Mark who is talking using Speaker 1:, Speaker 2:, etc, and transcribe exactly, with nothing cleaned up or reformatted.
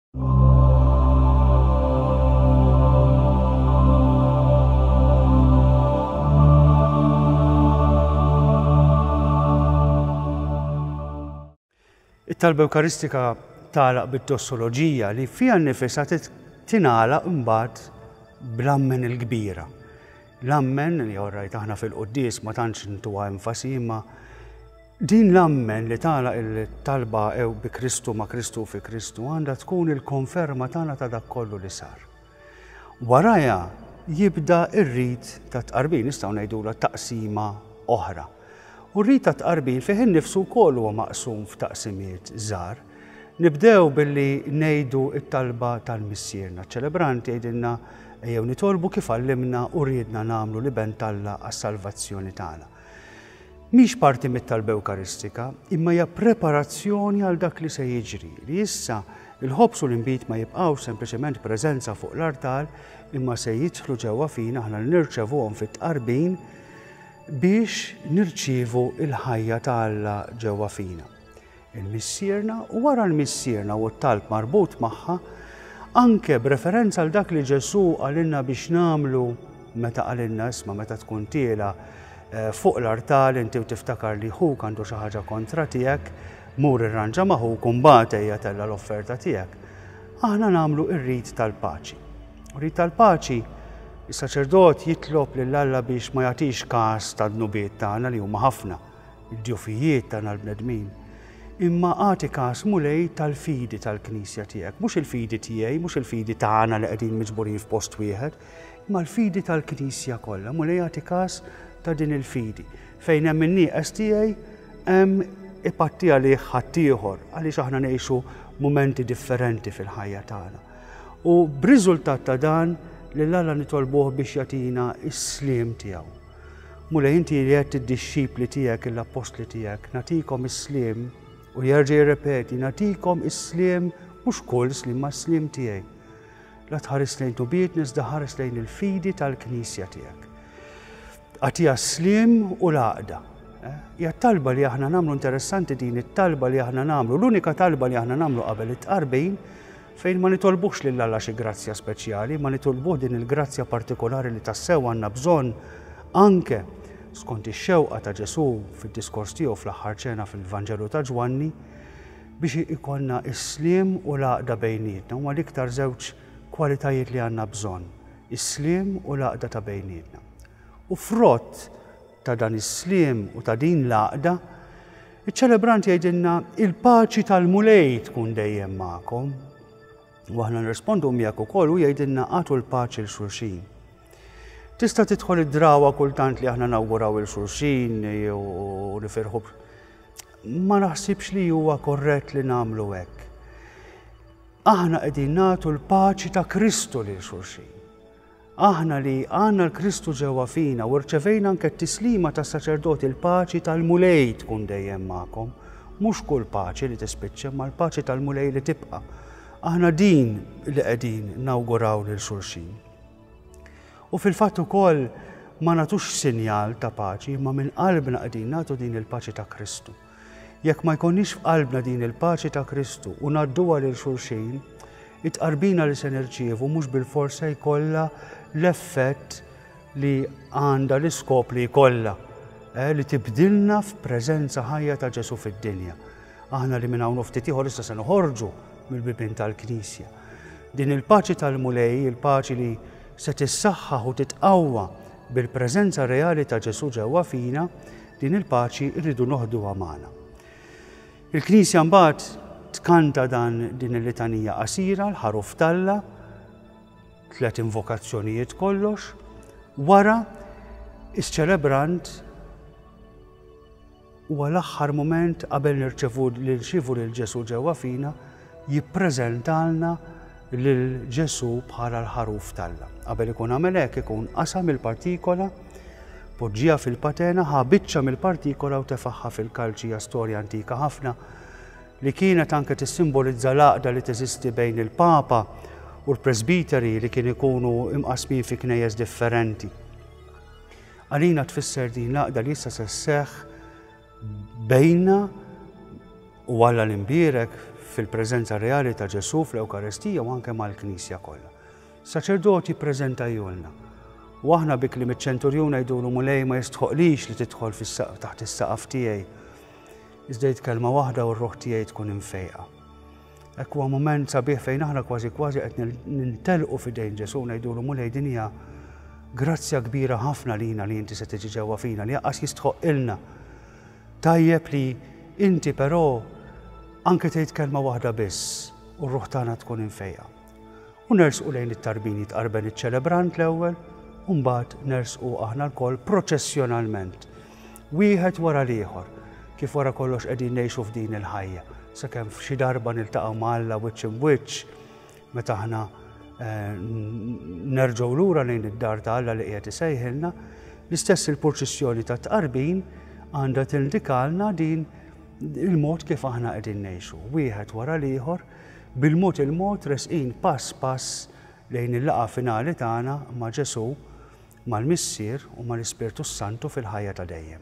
Speaker 1: It-talba Ewkaristika tagħlaq bid-dossoloġija li fiha nnifisha tingħalaq imbagħad bl-ammen il-kbira. L-ammen li orrajt aħna fil-quddies ma tantx ntuha enfasi, imma din l-ammen li tagħlaq il-talba ew bi Kristu, ma' Kristu, fi Kristu għandha tkun il-konferma tagħna ta' dak kollu li sar. Warajha jibda ir-rit ta' tqarbin, nistgħu ngħidulha taqsima oħra. U r-rit ta' tqarbin fih innifsu wkoll huwa maqsum f'taqsimiet żgħar. Nibdew billi ngħidu t-talba tal-Missierna. Ċ-ċelebrant jgħidilna ejjew nitolbu kif għallimna u riedna nagħmlu l-Iben t'Alla għas-salvazzjoni tagħna. Mhix parti mit-talba Ewkaristika, imma hija preparazzjoni għal dak li se jiġri, li issa il-ħobż u l-inbid ma jibqgħux sempliċement preżenza fuq l-artal, imma se jidħlu ġewwa fina aħna li nirċevuhom fit-tqarbin biex nirċievu il-ħajja ta' Alla ġewwa fina. Il-Missierna, u wara l-Missierna u t-talb marbut magħha, anke b'referenza għal dak li Ġesù qalilna biex nagħmlu meta qalilna isma' meta tkun tiela fuq l-artal inti u tiftakar li ħuk għandu xi ħaġa kontra tiegħek, mur irranġa ma' ħuk u mbagħad ejja tella l-offerta tiegħek. Aħna nagħmlu r-rit tal-paċi. Rit tal-paċi, is-saċerdot jitlob lil Alla biex ma jagħtix każ tad-dnubiet tagħna li huma ħafna, id-djufijiet tagħna l-bnedmin, imma agħti każ Mulej tal-fidi tal-Knisja tiegħek, mhux il-fidi tiegħi, mhux il-fidi tagħna li qegħdin miġburin f'post wieħed, imma l-fidi tal-Knisja kollha. Mulej agħti każ ta' din il-fidi. Fejn hemm in-nieqes tiegħi hemm ipatti għalih ħaddieħor, għaliex aħna ngħixu mumenti differenti fil-ħajja tagħna. U b'riżultat ta' dan lil Alla nitolbuh biex jagħtina s-sliem tiegħu. Mulej, inti li għedt id-dixxipli tiegħek, l-appostli tiegħek, nagħtikom is-sliem, u jerġa' jirrepeti, nagħtikom is-sliem, mhux kull sliem, ma s-sliem tiegħi. La tħares lejn tubiet, iżda ħares lejn il-fidi tal-Knisja tiegħek. Agħtiha s-sliem u l-għaqda. Hija talba li aħna nagħmlu, interessanti din it-talba li aħna nagħmlu, l-unika talba li aħna nagħmlu qabel it-tqarbin, fejn ma nitolbux lil Alla xi grazzja speċjali, ma nitolbuh din il-grazzja partikolari li tassew għandna bżonn anke skont ix-xewqa ta' Ġesù fid-diskors tiegħu fl-aħħar ċena fil-Vanġelu ta' Ġwanni, biex ikollna s-sliem u l-għaqda bejnietna. Huma l-iktar żewġ kwalitajiet li għandna bżonn, is-sliem u l-għaqda ta' bejnietna. U frott ta' dan is-sliem u ta' din l-għaqda, iċ-ċelebrant jgħidilna il-paċi tal-Mulej tkun dejjem magħkom. U aħna nirrispondu miegħek ukoll u jgħidilna agħtu l-paċi l xulxin. Tista' tidħol id-drawa kultant li aħna nawguraw il xulxin u nifirħu. Ma naħsibx li huwa korrett li nagħmlu hekk. Aħna qegħdin nagħtu l-paċi ta' Kristu lil xulxin. Aħna li għandna l-Kristu ġewwa fina u rċevejna anke t-tislima tas-saċerdoti, il-paċi tal-Mulej tkun dejjem magħkom. Mhux kull paċi li tispiċċa, ma l-paċi tal-Mulej li tibqa'. Aħna din li qegħdin nawguraw lil xulxin. U fil-fatt ukoll ma nagħtux sinjal ta' paċi, imma minn qalbna qegħdin nagħtu din il-paċi ta' Kristu. Jekk ma jkollniex f'qalbna din il-paċi ta' Kristu u ngħadduha lil xulxin, it-tqarbina li se nirċievu mhux bilfors se jkollha l-effett li għandha l-iskop li jkollha, eh, li tibdilna f'preżenza ħajja ta' Ġesù fid-dinja. Aħna li minn hawn ftit ieħor issa se noħorġu mill-bibien tal-Knisja. Din il-paċi tal-Mulej, il-paċi li se tissaħħaħ u titqawwa bil-preżenza reali ta' Ġesù ġewwa fina, din il-paċi rridu noħduha magħna. Il-Knisja mbagħad tkanta dan din il-litanija qasira, l-ħaruf t'Alla, tliet invokazzjonijiet kollox, wara is-ċelebrant huwa l-aħħar mument qabel nirċevu lil nirċievu lil Ġesù ġewwa fina, jippreżentalna lil Ġesù bħala l-ħaruf t'Alla. Qabel ikun għamel hekk ikun qasam il-partikola, poġġiha fil-patena, ħa biċċa mill-partikola u tefaħħa fil-kalċi. Hija storja antika ħafna li kienet anke tissimbolizza l-għaqda li teżisti bejn il-Papa u l-presbiteri li kien ikunu imqasmin fi knejjes differenti. Għalina tfisser din l-għaqda li issa se sseħħ bejna u Alla l-imbierek fil-preżenza reali ta' Ġesù fl-Ewkaristija u anke mal-Knisja kollha. Saċerdot jippreżentahulna. U aħna bi kliem iċ-ċenturjun ngħidulu: "Mulej, ma jistħoqlix li tidħol taħt is-saqaf tiegħi. Iżda għid kelma waħda u r-ruħ tiegħi tkun imfejqa." Hekk huwa mument sabiħ fejn aħna kważi kważi qed nintelqu f'idejn Ġesù, ngħidulu: "Mulej, din hija grazzja kbira ħafna lina li inti se tiġi ġewwa fina li lanqas jistħoqilna. Tajjeb li inti però anke tgħid kelma waħda biss u r-ruħ tagħna tkun imfejqa." U nersqu lejn it-tarbin, jitqarben iċ-ċelebrant l-ewwel, u mbagħad nersqu aħna lkoll proċessjonalment. Wieħed wara l-ieħor, kif wara kollox qegħdin ngħixu f'din il-ħajja. Sakemm f'xi darba niltaqgħu ma' Alla wiċċ imwiċċ meta aħna eh, nerġgħu lura lejn id-dar ta' Alla li qiegħed isejħilna, l-istess il-purċissjoni ta' tqarbin għandha tindikalna din il-mod kif aħna qegħdin ngħixu. Wieħed wara l-ieħor, bil-mod il-mod resqin pass pass lejn il-laqgħa finali tagħna ma' Ġesù, mal-Missier u mal-Ispirtu Santu fil-ħajja ta' dejjem.